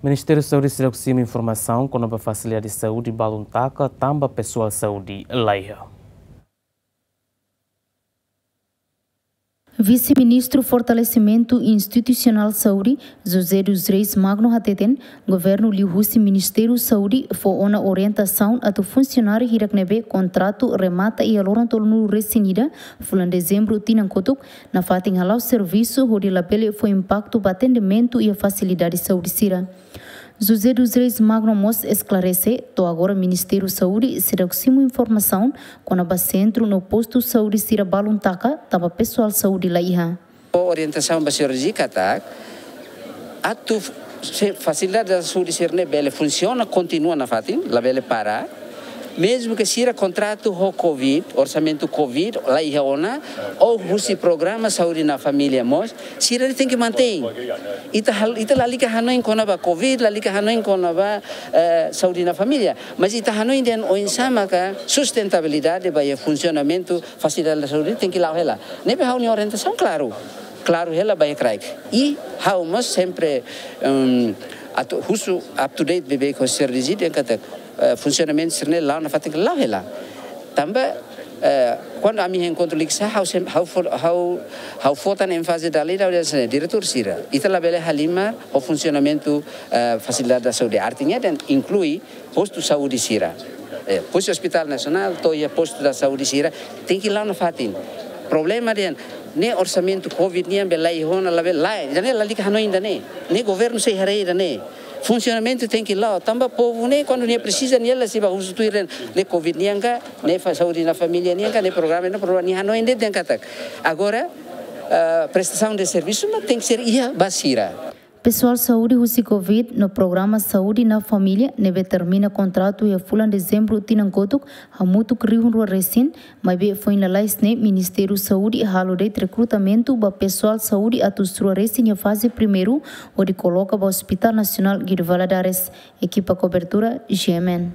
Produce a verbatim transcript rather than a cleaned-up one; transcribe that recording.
Ministériu Saúde seidauk simu informasaun kona-ba fasilidade saúde balun taka tanba pesoál saúde laiha. Vise-Ministru Fortalesimentu Institusionál Saúde, José dos Reis Magno hateten, governu liuhusi Ministériu Saúde fó ona orientasaun atu funsionáriu hirak ne'ebé kontratu remata iha loron tolunulu resin ida fulan Dezembru tinan kotuk, nafatin hala'o servisu hodi labele fó impaktu ba atendimentu iha fasilidade saúde sira. José dos Reis Magno mós esklarese, to'o agora Ministériu Saúde seidauk simu informasaun kona-ba sentru no postu saúde sira balun taka tanba pesoál saúde laiha. Orientasaun ba señór Riziki katak, atu f-, se fasilidade saúde sira-ne'e bele funsiona, kontinua nafatin, labele para. Mezmu ke sira kontratu ho covid, orsamentu covid laiha ona, ou husi programa saúde na família mós, sira tenke mantein. Ita hal-, ita lalika hanoin kona-ba covid, lalika hanoin kona-ba, eh, saúde na família. Mas ita hanoin dehan oinsá maka sustentabilidade ba iha funsionamentu fasilidade saúde tenke la'o hela. Ne'ebé ha'u-nia orientasaun klaru. Klaru hela ba iha kraik. I ha'u mós sempre, em, atu husu up to date beibeik ho señór Riziki dehan katak, eh, funsionamentu sira-ne'e la'o nafatin la'o hela. Tanba, eh, kuandu ami enkontru liksá, ha'u sem-, ha'u fó, ha'u, ha'u fó tan énfaze dala ida, ha'u dehan hanesan ne'e, diretór sira, ita labele halimar ho funsionamentu, eh, fasilidade saúde. Artinya dehan inklui postu saúde sira. Eh, husi Hospital Nasionál to'o iha postu saúde sira tenke la'o nafatin. Problema dehan ne'e orsamentu covid nian be laiha ona, labele, lae, ida-ne'e lalika hanoin ida-ne'e. Ne'e governu sei haree ida-ne'e. Funsionamentu tenke la'o, tanba povu ne'e kuandu nia presiza nia la sei bá husu tuir dehan ne'e covid nian ka, ne'e fa-, saúde na família nian ka, ne'e programa, ne'e programa, nia hanoin de'it dehan katak. Agora, ah, prestasaun de servisu mak tenke ser iha ba sira. Pesoál saúde husi covid no programa saúde na família ne'ebé termina kontratu iha fulan Dezembru tinan kotuk hamutuk rihun rua resin, maibé foin lalais ne'e Ministériu Saúde halo de'it rekrutamentu ba pesoál saúde atus rua resin iha faze primeiru hodi koloka ba Hospital Nasionál Guido Valadares. Ekipa kobertura, G M N.